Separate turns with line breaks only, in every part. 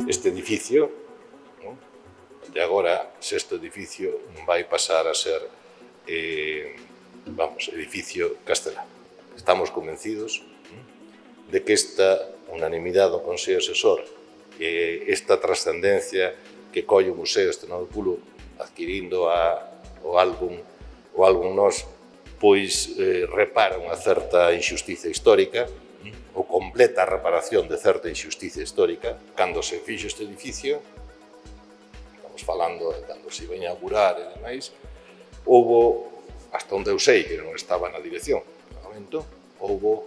Este edificio, de agora, sexto edificio, vai pasar a ser, edificio castelán. Estamos convencidos de que esta unanimidade do Consello Asesor, esta trascendencia que colle o Museo Estrenado do Pulo adquirindo o álbum Nós, pois repara unha certa injustiza histórica, ou completa a reparación de certa injustiza histórica. Cando se fixo este edificio, estamos falando de cando se iba a inaugurar e demais, houve, hasta onde eu sei, que non estaba na dirección no momento, houve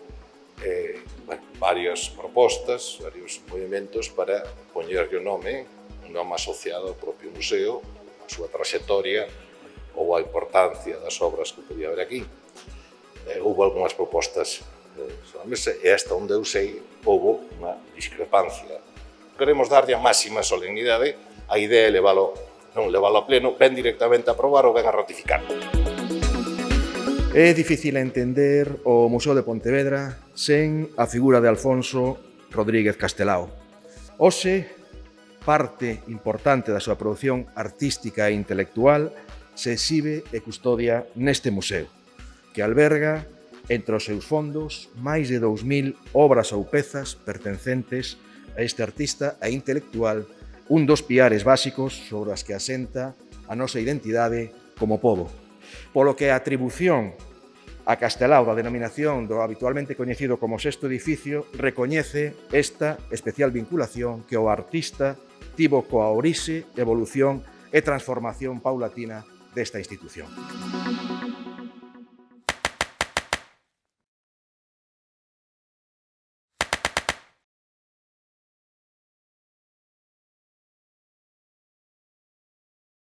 varias propostas, varios movimentos para poñerlle un nome asociado ao propio museo, a súa traxectoria ou a importancia das obras que podía haber aquí. Houve algunhas propostas sobre a mesa e hasta onde eu sei houve unha discrepancia. Queremos darlle a máxima solemnidade, a idea é non levalo a pleno, ben directamente a aprobar ou ben a ratificar.
É difícil entender o Museo de Pontevedra sen a figura de Alfonso Rodríguez Castelao. Hoxe, parte importante da súa produción artística e intelectual se exhibe e custodia neste museo, que alberga entre os seus fondos máis de 2000 obras ou pezas pertencentes a este artista e intelectual, un dos piares básicos sobre as que asenta a nosa identidade como pobo. Polo que a atribución a Castelao da denominación do habitualmente coñecido como sexto edificio recoñece esta especial vinculación que o artista tivo coa orixe, evolución e transformación paulatina desta institución.